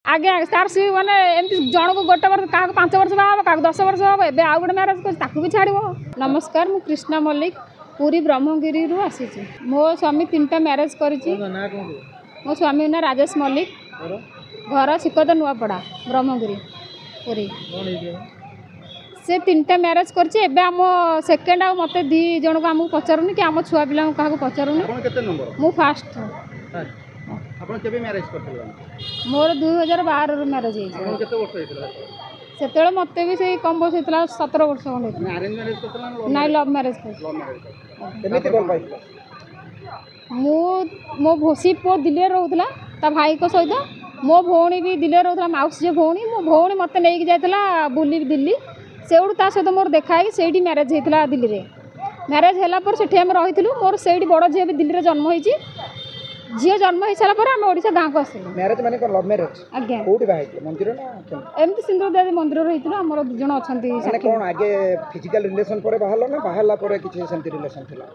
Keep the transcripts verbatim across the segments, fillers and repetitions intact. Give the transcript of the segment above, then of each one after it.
ଆଜ୍ଞା ତାର ସେ ମାନେ ଏମିତି ଜଣକୁ ଗୋଟେ ବର୍ଷ, କାହାକୁ ପାଞ୍ଚ ବର୍ଷ ବାହା ହେବ, କାହାକୁ ଦଶ ବର୍ଷ ହେବ। ଏବେ ଆଉ ଗୋଟେ ମ୍ୟାରେଜ୍ କରୁଛି, ତାକୁ ବି ଛାଡ଼ିବ। ନମସ୍କାର, ମୁଁ କୃଷ୍ଣା ମଲ୍ଲିକ, ପୁରୀ ବ୍ରହ୍ମଗିରିରୁ ଆସିଛି। ମୋ ସ୍ୱାମୀ ତିନିଟା ମ୍ୟାରେଜ୍ କରିଛି। ମୋ ସ୍ୱାମୀ ନାଁ ରାଜେଶ ମଲ୍ଲିକ, ଘର ସିକତ ନୂଆପଡ଼ା, ବ୍ରହ୍ମଗିରି, ପୁରୀ। ସେ ତିନିଟା ମ୍ୟାରେଜ୍ କରିଛି। ଏବେ ଆମ ସେକେଣ୍ଡ ଆଉ ମୋତେ ଦୁଇ ଜଣକୁ ଆମକୁ ପଚାରୁନି କି ଆମ ଛୁଆ ପିଲାଙ୍କୁ କାହାକୁ ପଚାରୁନି। ମୁଁ ଫାଷ୍ଟ। ଆପଣ କେବେ ମ୍ୟାରେଜ୍ କରିଥିଲେ? ମୋର ଦୁଇ ହଜାର ବାରରୁ ମ୍ୟାରେଜ୍ ହେଇଛି। କେତେ ବର୍ଷ ହେଇଥିଲା ସେତେବେଳେ? ମୋତେ ବି ସେଇ କମ୍ ବୟସ ହେଇଥିଲା, ସତର ବର୍ଷ ଖଣ୍ଡେ ହେଇଥିଲା। ଆରେଞ୍ଜ ମ୍ୟାରେଜ୍ କରିଥିଲା? ନାଇଁ, ଲଭ୍ ମ୍ୟାରେଜ୍ କରିଛି। କେମିତି ଭଲ ପାଇଥିଲା? ମୁଁ ମୋ ସେ ପୁଅ ଦିଲ୍ଲୀରେ ରହୁଥିଲା ତା ଭାଇଙ୍କ ସହିତ। ମୋ ଭଉଣୀ ବି ଦିଲ୍ଲୀରେ ରହୁଥିଲା, ମାଉସୀ ଝିଅ ଭଉଣୀ। ମୋ ଭଉଣୀ ମୋତେ ନେଇକି ଯାଇଥିଲା ବୁଲି ଦିଲ୍ଲୀ। ସେଇଠୁ ତା ସହିତ ମୋର ଦେଖା ହେଇକି ସେଇଠି ମ୍ୟାରେଜ୍ ହେଇଥିଲା। ଦିଲ୍ଲୀରେ ମ୍ୟାରେଜ୍ ହେଲା ପରେ ସେଠି ଆମେ ରହିଥିଲୁ। ମୋର ସେଇଠି ବଡ଼ ଝିଅ ବି ଦିଲ୍ଲୀରେ ଜନ୍ମ ହେଇଛି। ଝିଅ ଜନ୍ମ ହେଇସାରିଲା ପରେ ଆମେ ଓଡ଼ିଶା ଗାଁକୁ ଆସିଲୁ। ମ୍ୟାରେଜ୍ ମାନେ କ'ଣ ଲଭ୍ ମ୍ୟାରେଜ୍? ଆଜ୍ଞା। କୋଉଠି ବାହା ହେଇଥିଲେ, ମନ୍ଦିର ନା କେମିତି? ଏମିତି ସିନ୍ଦୁର ଦେବୀ ମନ୍ଦିରରେ ହେଇଥିଲୁ। ଆମର ଦୁଇ ଜଣ ଅଛନ୍ତି। ମାନେ କ'ଣ ଆଗେ ଫିଜିକାଲ ରିଲେସନ୍ ପରେ ବାହାରିଲ ନା ବାହାରିଲା ପରେ କିଛି ସେମିତି ରିଲେସନ୍ ଥିଲା?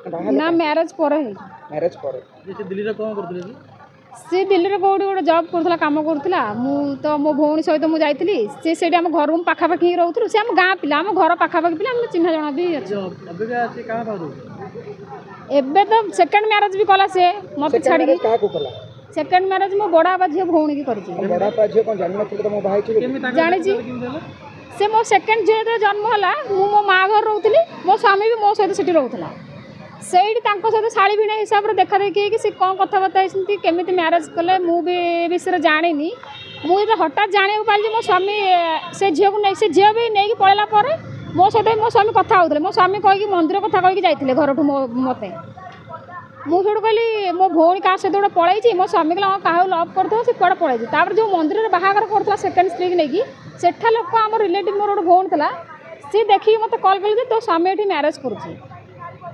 ନା, ମ୍ୟାରେଜ୍ ପରେ ହେଇଛି। ମ୍ୟାରେଜ୍ ପରେ। ସେ ଦିଲ୍ଲୀରେ କ'ଣ କରୁଥିଲେ? ସେ ଦିଲ୍ଲୀରେ କେଉଁଠି ଗୋଟେ ଜବ୍ କରୁଥିଲା, କାମ କରୁଥିଲା। ମୁଁ ତ ମୋ ଭଉଣୀ ସହିତ ମୁଁ ଯାଇଥିଲି। ସେ ସେଇଠି ଆମ ଘରକୁ ପାଖାପାଖି ହିଁ ରହୁଥିଲୁ। ସେ ଆମ ଗାଁ ପିଲା, ଆମ ଘର ପାଖାପାଖି ପିଲା, ଆମ ଚିହ୍ନା ଜଣା ବି ଅଛି। ଏବେ ତ ସେକେଣ୍ଡ ମ୍ୟାରେଜ୍ ବି କଲା ସେ ମୋତେ ଛାଡ଼ିକି। କାହାକୁ କଲା ସେକେଣ୍ଡ ମ୍ୟାରେଜ୍? ମୋ ବଡ଼ ବାପା ଝିଅ ଭଉଣୀକି କରିଛି। ବଡ଼ ବାପା ଝିଅ କ'ଣ ଜାଣିନଥିଲେ ତ ମୁଁ ବାହା ହେଇଛି? ଜାଣିଛି ସେ। ମୋ ସେକେଣ୍ଡ ଝିଅ ଯେତେବେଳେ ଜନ୍ମ ହେଲା, ମୁଁ ମୋ ମା ଘରେ ରହୁଥିଲି। ମୋ ସ୍ୱାମୀ ବି ମୋ ସହିତ ସେଠି ରହୁଥିଲା। ସେଇଠି ତାଙ୍କ ସହିତ ଶାଳୀ ଭିଣେଇ ହିସାବରେ ଦେଖା ଦେଖି ହେଇକି ସେ କ'ଣ କଥାବାର୍ତ୍ତା ହେଇଛନ୍ତି, କେମିତି ମ୍ୟାରେଜ୍ କଲେ, ମୁଁ ବି ଏ ବିଷୟରେ ଜାଣିନି। ମୁଁ ଯେତେବେଳେ ହଠାତ୍ ଜାଣିବାକୁ ପାଇଲି ଯେ ମୋ ସ୍ୱାମୀ ସେ ଝିଅକୁ ନେଇ, ସେ ଝିଅ ବି ନେଇକି ପଳେଇଲା ପରେ ମୋ ସହିତ ମୋ ସ୍ୱାମୀ କଥା ହେଉଥିଲେ। ମୋ ସ୍ୱାମୀ କହିକି ମନ୍ଦିର କଥା କହିକି ଯାଇଥିଲେ ଘରଠୁ ମୋ ମୋତେ। ମୁଁ ସେଇଠୁ କହିଲି ମୋ ଭଉଣୀ କାହା ସହିତ ଗୋଟେ ପଳେଇଛି। ମୋ ସ୍ୱାମୀ କହିଲା ହଁ, କାହାକୁ ଲଭ୍ କରୁଥିବ, ସେ କୁଆଡ଼େ ପଳେଇଛି। ତାପରେ ଯେଉଁ ମନ୍ଦିରରେ ବାହାଘର କରୁଥିଲା ସେକେଣ୍ଡ ସ୍ତ୍ରୀକି ନେଇକି, ସେଠା ଲୋକ ଆମ ରିଲେଟିଭ୍ ମୋର ଗୋଟେ ଭଉଣୀ ଥିଲା, ସିଏ ଦେଖିକି ମୋତେ କଲ୍ କଲେ ଯେ ତୋ ସ୍ୱାମୀ ଏଠି ମ୍ୟାରେଜ୍ କରୁଛି।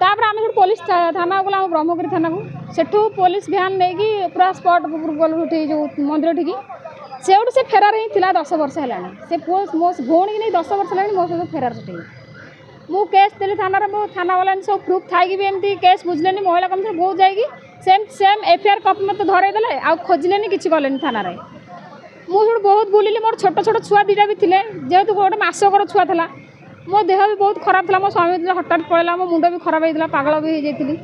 ତାପରେ ଆମେ ସେଠୁ ପୋଲିସ ଥାନାକୁ ଗଲୁ, ଆମ ବ୍ରହ୍ମଗିରି ଥାନାକୁ। ସେଠୁ ପୋଲିସ ଭ୍ୟାନ୍ ନେଇକି ପୁରା ସ୍ପଟ୍ ଉପରକୁ ଗଲୁ, ସେଠି ଯେଉଁ ମନ୍ଦିର ଠିକି। ସେଇଠୁ ସେ ଫେରାର ହିଁ ଥିଲା ଦଶ ବର୍ଷ ହେଲାଣି। ସେ ପୁଅ ମୋ ଭଉଣୀକି ନେଇ ଦଶ ବର୍ଷ ହେଲାଣି ମୋ ସହିତ ଫେରାର। ସେଠି ମୁଁ କେସ୍ ଦେଲି ଥାନାରେ। ମୋ ଥାନାବାଲା ସବୁ ପ୍ରୁଫ୍ ଥାଇକି ବି ଏମିତି କେସ୍ ବୁଝିଲେନି। ମହିଳା କମିଶନ ବହୁତ ଯାଇକି same same F I R copy ମୋତେ ଧରେଇ ଦେଲେ, ଆଉ ଖୋଜିଲେନି, କିଛି କଲେନି ଥାନାରେ। ମୁଁ ସେଠୁ ବହୁତ ବୁଲିଲି। ମୋର ଛୋଟ ଛୋଟ ଛୁଆ ଦୁଇଟା ବି ଥିଲେ, ଯେହେତୁ ଗୋଟେ ମାସକର ଛୁଆ ଥିଲା। ମୋ ଦେହ ବି ବହୁତ ଖରାପ ଥିଲା। ମୋ ସ୍ୱାମୀ ଯେତେବେଳେ ହଠାତ୍ ପଳେଇଲା, ମୋ ମୁଣ୍ଡ ବି ଖରାପ ହେଇଥିଲା, ପାଗଳ ବି ହେଇଯାଇଥିଲି।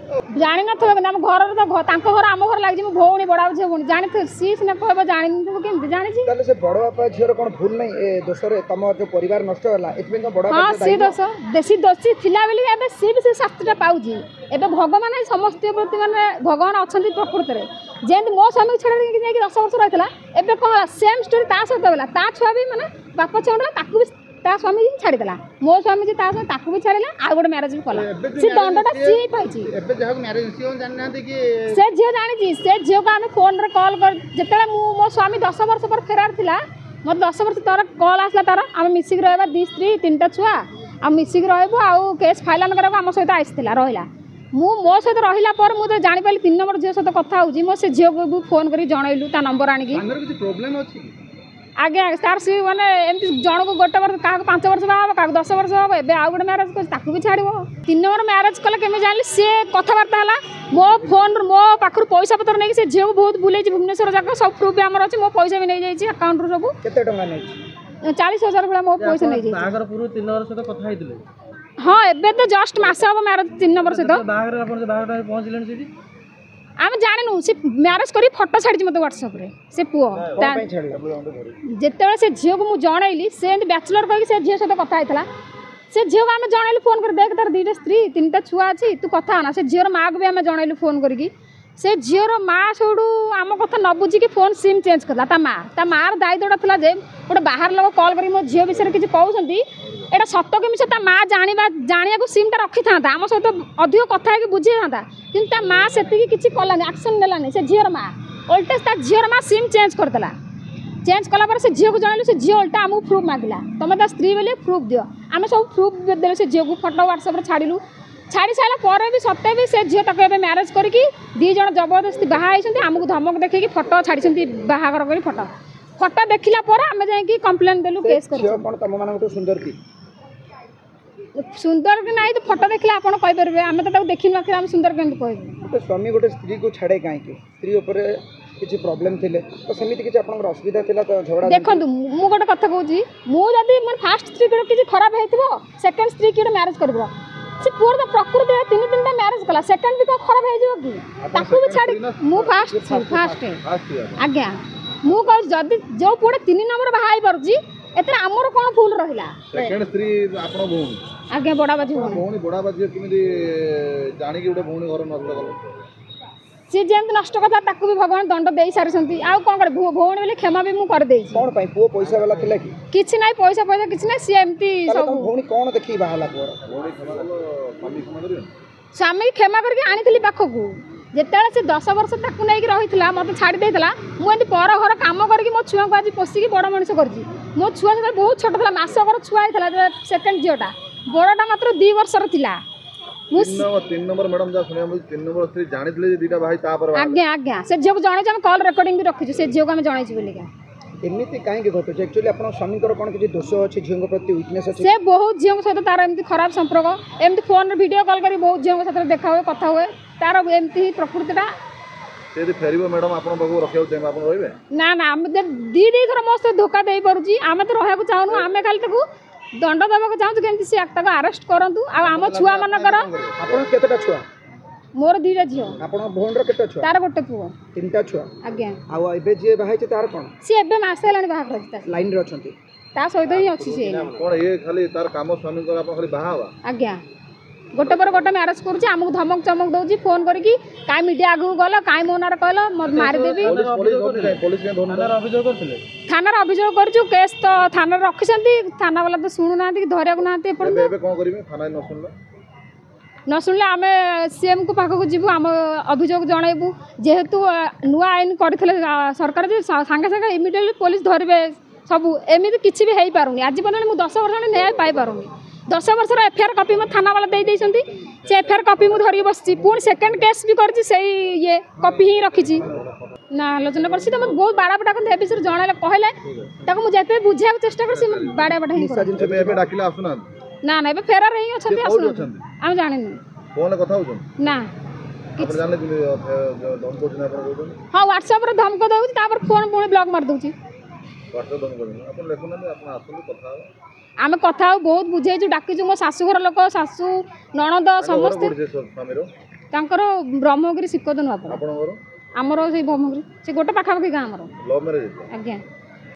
ଜାଣିନଥିବ କିନ୍ତୁ ଆମ ଘରର ତ ତାଙ୍କ ଘର ଆମ ଘର ଲାଗିଛି। ମୋ ଭଉଣୀ, ବଡ଼ ଝିଅ ଭଉଣୀ ଜାଣିଥିବ, ସିଏ ସିନା କହିବ ଜାଣିନଥିବ, କେମିତି ଜାଣିଛି? ତାହେଲେ ସେ ବଡ଼ ବାପା ଝିଅର କ'ଣ ଭୁଲ ନାହିଁ ଏ ଦୋଷରେ? ତମ ଯୋଉ ପରିବାର ନଷ୍ଟ ହେଲା, ଏଥିପାଇଁ କ'ଣ ବଡ଼? ହଁ, ସିଏ ଦୋଷ ଦେଶୀ ଦୋଷୀ ଥିଲା ବୋଲି ଏବେ ସିଏ ବି ସେ ଶାସ୍ତିଟା ପାଉଛି। ଏବେ ଭଗବାନ ସମସ୍ତଙ୍କ ପ୍ରତି ମାନେ ଭଗବାନ ଅଛନ୍ତି ପ୍ରକୃତରେ। ଯେମିତି ମୋ ସ୍ୱାମୀକୁ ଛାଡ଼ିକି ଯାଇକି ଦଶ ବର୍ଷ ରହିଥିଲା, ଏବେ କ'ଣ ହେଲା? ସେମ୍ ଷ୍ଟୋରି ତା ସହିତ ହେଲା। ତା ଛୁଆ ବି ମାନେ ବାପ ଛୁଆ, ତାକୁ ବି ତା ସ୍ୱାମୀ ହିଁ ଛାଡ଼ିଦେଲା। ମୋ ସ୍ୱାମୀ ଯେ ତା ସ୍ୱାମୀ ତାକୁ ବି ଛାଡ଼ିଲା, ଆଉ ଗୋଟେ ମ୍ୟାରେଜ୍ ବି କଲା। ସେ ଦଣ୍ଡଟା ସିଏ ହିଁ ପାଇଛି। ସେ ଝିଅ ଜାଣିଛି। ସେ ଝିଅକୁ ଆମେ ଫୋନ୍ରେ କଲ୍ କରି, ଯେତେବେଳେ ମୁଁ ମୋ ସ୍ୱାମୀ ଦଶ ବର୍ଷ ପରେ ଫେରାର ଥିଲା, ମୋତେ ଦଶ ବର୍ଷ ତାର କଲ୍ ଆସିଲା ତାର, ଆମେ ମିଶିକି ରହିବା, ଦୁଇ ସ୍ତ୍ରୀ ତିନିଟା ଛୁଆ, ଆଉ ମିଶିକି ରହିବୁ ଆଉ କେସ୍ ଫାଇନାଲ୍ କରିବାକୁ ଆମ ସହିତ ଆସିଥିଲା, ରହିଲା। ମୁଁ ମୋ ସହିତ ରହିଲା ପରେ ମୁଁ ତ ଜାଣିପାରିଲି ତିନି ନମ୍ବର ଝିଅ ସହିତ କଥା ହେଉଛି। ମୋ ସେ ଝିଅକୁ ବି ଫୋନ୍ କରିକି ଜଣେଇଲୁ ତା ନମ୍ବର ଆଣିକି। ପ୍ରୋବ୍ଲେମ୍ ଅଛି? ଆଜ୍ଞା, ତାର ସେ ମାନେ ଏମିତି ଜଣକୁ ଗୋଟେ ବର୍ଷ, କାହାକୁ ପାଞ୍ଚ ବର୍ଷ ବାହା ହେବ, କାହାକୁ ଦଶ ବର୍ଷ ହେବ। ଏବେ ଆଉ ଗୋଟେ ମ୍ୟାରେଜ୍ କରୁଛି, ତାକୁ ବି ଛାଡ଼ିବ। ତିନି ନମ୍ବର ମ୍ୟାରେଜ୍ କଲେ କେମିତି ଜାଣିଲି? ସିଏ କଥାବାର୍ତ୍ତା ହେଲା ମୋ ଫୋନ୍ରୁ, ମୋ ପାଖରୁ ପଇସା ପତ୍ର ନେଇକି ସେ ଝିଅକୁ ବହୁତ ବୁଲେଇଛି ଭୁବନେଶ୍ୱର ଯାକ। ସବୁ ପ୍ରୁଫ୍ ବି ଆମର ଅଛି। ମୋ ପଇସା ବି ନେଇଯାଇଛି ଆକାଉଣ୍ଟରୁ ସବୁ। କେତେ ଟଙ୍କା ନେଇଛି? ଚାଳିଶ ହଜାର ଭଳିଆ ମୋ ପଇସା ନେଇଯାଇଛି। ବାହାଘର ପୂର୍ବରୁ ତିନି ନମ୍ବର ସହିତ କଥା ହେଇଥିଲେ? ହଁ, ଏବେ ତ ଜଷ୍ଟ ମାସ ହେବ ମ୍ୟାରେଜ୍ ତିନି ନମ୍ବର ସହିତ। ବାହାଘର ଆପଣ ବାହାଘର ପହଞ୍ଚିଲେଣି ସେଠି? ଆମେ ଜାଣିନୁ। ସେ ମ୍ୟାରେଜ୍ କରି ଫଟୋ ଛାଡ଼ିଛି ମୋତେ ହ୍ୱାଟ୍ସଆପ୍ରେ ସେ ପୁଅ। ଯେତେବେଳେ ସେ ଝିଅକୁ ମୁଁ ଜଣେଇଲି, ସେ ଏମିତି ବ୍ୟାଚଲର୍ କହିକି ସେ ଝିଅ ସହିତ କଥା ହେଇଥିଲା। ସେ ଝିଅକୁ ଆମେ ଜଣେଇଲୁ ଫୋନ୍ କରି, ଦେଖ ତାର ଦୁଇଟା ସ୍ତ୍ରୀ ତିନିଟା ଛୁଆ ଅଛି, ତୁ କଥା ହନା। ସେ ଝିଅର ମାଆକୁ ବି ଆମେ ଜଣେଇଲୁ ଫୋନ୍ କରିକି। ସେ ଝିଅର ମା ସେଇଠୁ ଆମ କଥା ନ ବୁଝିକି ଫୋନ୍ ସିମ୍ ଚେଞ୍ଜ କଲା ତା ମା। ତା ମାଆର ଦାୟିତ୍ୱଟା ଥିଲା ଯେ ଗୋଟେ ବାହାର ଲୋକ କଲ୍ କରିକି ମୋ ଝିଅ ବିଷୟରେ କିଛି କହୁଛନ୍ତି, ଏଇଟା ସତ କି ମିଛ, ତା ମା ଜାଣିବା ଜାଣିବାକୁ ସିମ୍ଟା ରଖିଥାନ୍ତା, ଆମ ସହିତ ଅଧିକ କଥା ହେଇକି ବୁଝେଇଥାନ୍ତା। କିନ୍ତୁ ତା ମା ସେତିକି କିଛି କଲାନି, ଆକ୍ସନ୍ ନେଲାନି ସେ ଝିଅର ମା। ଓଲଟା ତା ଝିଅର ମା ସିମ୍ ଚେଞ୍ଜ କରିଦେଲା। ଚେଞ୍ଜ କଲା ପରେ ସେ ଝିଅକୁ ଜଣେଇଲୁ। ସେ ଝିଅ ଓଲଟା ଆମକୁ ପ୍ରୁଫ୍ ମାଗିଲା, ତମେ ତା ସ୍ତ୍ରୀ ବୋଲି ପ୍ରୁଫ୍ ଦିଅ। ଆମେ ସବୁ ପ୍ରୁଫ୍ ଦେଲୁ ସେ ଝିଅକୁ, ଫଟୋ ହ୍ୱାଟ୍ସଆପ୍ରେ ଛାଡ଼ିଲୁ। ଛାଡ଼ି ସାରିଲା ପରେ ବି ସତେ ବି ସେ ଝିଅ ତାକୁ ଏବେ ମ୍ୟାରେଜ୍ କରିକି ଦୁଇ ଜଣ ଜବରଦସ୍ତି ବାହା ହେଇଛନ୍ତି। ଆମକୁ ଧମକ ଦେଖେଇକି ଫଟୋ ଛାଡ଼ିଛନ୍ତି, ବାହାଘର କରି ଫଟୋ। ଫଟୋ ଦେଖିଲା ପରେ ଆମେ ଯାଇକି କମ୍ପ୍ଲେନ୍ ଦେଲୁ, କେସ୍ କରିଛୁ। କ'ଣ ତମମାନଙ୍କଠୁ ସୁନ୍ଦର କି? ସୁନ୍ଦର କି ନାହିଁ ତ ଫଟୋ ଦେଖିଲେ ଆପଣ କହିପାରିବେ। ଆମେ ତ ତାକୁ ଦେଖିନୁ ଆଖିରେ, ଆମେ ସୁନ୍ଦର କେମିତି କହିବୁ? ଗୋଟେ ସ୍ୱାମୀ ଗୋଟେ ସ୍ତ୍ରୀକୁ ଛାଡ଼େ କାହିଁକି? ସ୍ତ୍ରୀ ଉପରେ କିଛି ପ୍ରୋବ୍ଲେମ୍ ଥିଲେ ତ ସେମିତି କିଛି ଆପଣଙ୍କର ଅସୁବିଧା ଥିଲା ତ ଝଗଡ଼ା ଦେଖନ୍ତୁ, ମୁଁ ଗୋଟେ କଥା କହୁଛି, ମୁଁ ଯଦି ମୋର ଫାଷ୍ଟ ସ୍ତ୍ରୀ କିଛି ଖରାପ ହେଇଥିବ, ସେକେଣ୍ଡ ସ୍ତ୍ରୀ କି ଗୋଟେ ମ୍ୟାରେଜ୍ କରିବ। ସେ ପୁଅର ତ ପ୍ରକୃତି ତିନି ତିନିଟା ମ୍ୟାରେଜ୍ କଲା, ସେକେଣ୍ଡ ବି କ'ଣ ଖରାପ ହେଇଯିବ କି? ତାକୁ ବି ଛାଡ଼ି ମୁଁ ଫାଷ୍ଟ ଫାଷ୍ଟ ଆଜ୍ଞା। ମୁଁ କହୁଛି, ଯଦି ଯେଉଁ ପୁଅଟା ତିନି ନମ୍ବର ବାହା ହେଇପାରୁଛି, ଏଥିରେ ଆମର କ'ଣ ଭୁଲ ରହିଲା? ସେକେଣ୍ଡ ସ୍ତ୍ରୀ ଆପଣ ଭଉଣୀ? ଆଜ୍ଞା, ବଡ଼ବାପା ଝିଅ। ଭଉଣୀ, ବଡ଼ବାପା ଝିଅ କେମିତି ଜାଣିକି ଗୋଟେ ଭଉଣୀ ଘର ନଷ୍ଟ କଲେ? ସିଏ ଯେମିତି ନଷ୍ଟ କଥା, ତାକୁ ବି ଭଗବାନ ଦଣ୍ଡ ଦେଇ ସାରିଛନ୍ତି। ଆଉ କ'ଣ କରିବି? ଭଉଣୀ ବୋଲି କ୍ଷମା ବି ମୁଁ କରିଦେଇଛି। କ'ଣ ପାଇଁ? ପୁଅ ପଇସା ବାଲା ଥିଲା କି? କିଛି ନାହିଁ, ପଇସା ପଇସା କିଛି ନାହିଁ। ସିଏ ଏମିତି ସବୁ। ଭଉଣୀ କ'ଣ ଦେଖିକି ବାହା ହେଲା ପୁଅର? ଭଉଣୀ କ୍ଷମା କଲ, ସ୍ୱାମୀ କ୍ଷମା କରିବେନି? ସ୍ୱାମୀ କ୍ଷମା କରିକି ଆଣିଥିଲି ପାଖକୁ। ଯେତେବେଳେ ସେ ଦଶ ବର୍ଷ ତାକୁ ନେଇକି ରହିଥିଲା, ମୋତେ ଛାଡ଼ି ଦେଇଥିଲା। ମୁଁ ଏମିତି ପର ଘର କାମ କରିକି ମୋ ଛୁଆଙ୍କୁ ଆଜି ପୋଷିକି ବଡ଼ ମଣିଷ କରିଛି। ମୋ ଛୁଆ ସେତେବେଳେ ବହୁତ ଛୋଟ ଥିଲା, ମାସକର ଛୁଆ ହେଇଥିଲା ସେକେଣ୍ଡ ଝିଅଟା, ବଡ଼ଟା ମାତ୍ର ଦୁଇ ବର୍ଷର ଥିଲା। ମୁଁ ତିନି ନମ୍ବର, ମ୍ୟାଡ଼ାମ, ଯାହା ଶୁଣିବାକୁ ମିଳୁଛି, ତିନି ନମ୍ବର ସ୍ତ୍ରୀ ଜାଣିଥିଲେ ଯେ ଦୁଇଟା ଭାଇ, ତାପରେ? ଆଜ୍ଞା ଆଜ୍ଞା, ସେ ଝିଅକୁ ଜଣେଇଛୁ। ଆମେ କଲ୍ ରେକର୍ଡ଼ିଂ ବି ରଖିଛୁ, ସେ ଝିଅକୁ ଆମେ ଜଣେଇଛୁ ବୋଲିକା। ଏମିତି କାହିଁକି ଘଟୁଛି ଆକ୍ଚୁଆଲି? ଆପଣଙ୍କ ସ୍ୱାମୀଙ୍କର କ'ଣ କିଛି ଦୋଷ ଅଛି? ଝିଅଙ୍କ ପ୍ରତି ୱିକନେସ୍ ଅଛି? ସେ ବହୁତ ଝିଅଙ୍କ ସହିତ ତାର ଏମିତି ଖରାପ ସମ୍ପର୍କ, ଏମିତି ଫୋନ୍ରେ ଭିଡ଼ିଓ କଲ୍ କରି ବହୁତ ଝିଅଙ୍କ ସାଥିରେ ଦେଖା ହୁଏ, କଥା ହୁଏ। ତାର ଏମିତି ହିଁ ପ୍ରକୃତିଟା। ସେ ଯଦି ଫେରିବ ମ୍ୟାଡ଼ାମ, ଆପଣଙ୍କ ପାଖକୁ ରଖିବାକୁ ଚାହିଁବ, ଆପଣ ରହିବେ? ନା ନା, ଆମେ ଦୁଇ ଦୁଇ ଥର ମୋ ସହିତ ଧୋକା ଦେଇପାରୁଛି, ଆମେ ତ ରହିବାକୁ ଚାହୁଁନୁ। ଆମେ ଖାଲି ତାକୁ ଦଣ୍ଡ ଦେବାକୁ ଚାହୁଁଛୁ, କେମିତି ସେ ତାକୁ ଆରେଷ୍ଟ କରନ୍ତୁ। ଆଉ ଆମ ଛୁଆମାନଙ୍କର। ଆପଣ କେତେଟା ଛୁଆ? ମୋର ଦୁଇଟା ଝିଅ। ଆପଣଙ୍କ ଭଉଣୀର କେତେ ଛୁଆ? ତାର ଗୋଟେ ପୁଅ। ତିନିଟା ଛୁଆ? ଆଜ୍ଞା। ଆଉ ଏବେ ଯିଏ ବାହା ହେଇଛି ତାର କ'ଣ? ସିଏ ଏବେ ମାସେ ହେଲାଣି ବାହାଘର ହେଇଛି, ତା ଲାଇନରେ ଅଛନ୍ତି, ତା ସହିତ ହିଁ ଅଛି ସିଏ। କ'ଣ ଇଏ ଖାଲି ତାର କାମ ସ୍ୱାମୀଙ୍କର ଆପଣ ଖାଲି ବାହା ହବା? ଆଜ୍ଞା, ଗୋଟେ ପରେ ଗୋଟେ ମ୍ୟାରେଜ୍ କରୁଛି। ଆମକୁ ଧମକ ଚମକ ଦେଉଛି ଫୋନ୍ କରିକି, କାଇଁ ମିଡ଼ିଆ ଆଗକୁ ଗଲ, କାଇଁ ମୋ ନାଁରେ କହିଲ, ମାରିଦେବି। ଥାନାରେ ଅଭିଯୋଗ କରିଛୁ, କେସ୍ ତ ଥାନାରେ ରଖିଛନ୍ତି। ଥାନା ବାଲା ତ ଶୁଣୁନାହାନ୍ତି କି ଧରିବାକୁ ନାହାନ୍ତି ଏପର୍ଯ୍ୟନ୍ତ। ଏବେ କ'ଣ କରିବେ ଥାନା ନ ଶୁଣିଲେ? ନ ଶୁଣିଲେ ଆମେ ସିଏମ୍କୁ ପାଖକୁ ଯିବୁ, ଆମ ଅଭିଯୋଗ ଜଣାଇବୁ। ଯେହେତୁ ନୂଆ ଆଇନ କରିଥିଲେ ସରକାର ଯେ ସାଙ୍ଗେ ସାଙ୍ଗେ ଇମିଡ଼ିଏଟଲି ପୋଲିସ ଧରିବେ ସବୁ, ଏମିତି କିଛି ବି ହେଇପାରୁନି ଆଜି ପର୍ଯ୍ୟନ୍ତ। ମୁଁ ଦଶ ବର୍ଷ ହେଲାଣି ନ୍ୟାୟ ପାଇପାରୁନି। ଦଶ ବର୍ଷର ଏଫଆଇଆର୍ କପି ମୋ ଥାନାବାଲା ଦେଇ ଦେଇଛନ୍ତି, ସେ ଏଫଆଇଆର୍ କପି ମୁଁ ଧରିକି ବସିଛି। ପୁଣି ସେକେଣ୍ଡ କେସ୍ ବି କରିଛି, ସେଇ ଇଏ କପି ହିଁ ରଖିଛି। ନା, ଆଲୋଚନା କରିଛି ତ ମୋତେ ବହୁତ ବାଡ଼ାପଟା କରନ୍ତି। ଏ ବିଷୟରେ ଜଣାଇଲେ, କହିଲେ ତାକୁ ମୁଁ ଯେତେ ବୁଝେଇବାକୁ ଚେଷ୍ଟା କରେ, ସେ ବାଡ଼ିଆପଟା ହିଁ। ଏବେ ଡାକିଲେ ଆସୁନାହାନ୍ତି? ନା ନା, ଏବେ ଫେରାର ହିଁ ଅଛନ୍ତି, ଆସୁନାହାନ୍ତି, ଆମେ ଜାଣିନୁ। ଫୋନରେ କଥା ହେଉଛନ୍ତି? ନା। ଆପଣ ଜାଣିଲେ ଧମକ କରୁଛନ୍ତି ଆପଣ କହୁଛନ୍ତି? ହଁ, ହ୍ୱାଟ୍ସଆପ୍ରେ ଧମକ ଦେଉଛି, ତାପରେ ଫୋନ୍ ପୁଣି ବ୍ଲକ୍ ମାରିଦେଉଛି। ହ୍ୱାଟ୍ସଆପ୍ ଧମକ ଦେଉଛନ୍ତି? ଆପଣ ଲେଖୁନାହାନ୍ତି, ଆପଣ ଆସନ୍ତୁ, କଥା ହେବା। ଆମେ କଥା ହଉ, ବହୁତ ବୁଝେଇଛୁ, ଡାକିଛୁ। ମୋ ଶାଶୁଘର ଲୋକ, ଶାଶୁ, ନଣନ୍ଦ ସମସ୍ତେ। ତାଙ୍କର ବ୍ରହ୍ମଗିରି, ଶିକଦ ନୂଆପଡ଼ା। ଆପଣଙ୍କର? ଆମର ସେଇ ବ୍ରହ୍ମଗିରି, ସେ ଗୋଟେ ପାଖାପାଖି ଗାଁ ଆମର। Love marriage? ଆଜ୍ଞା।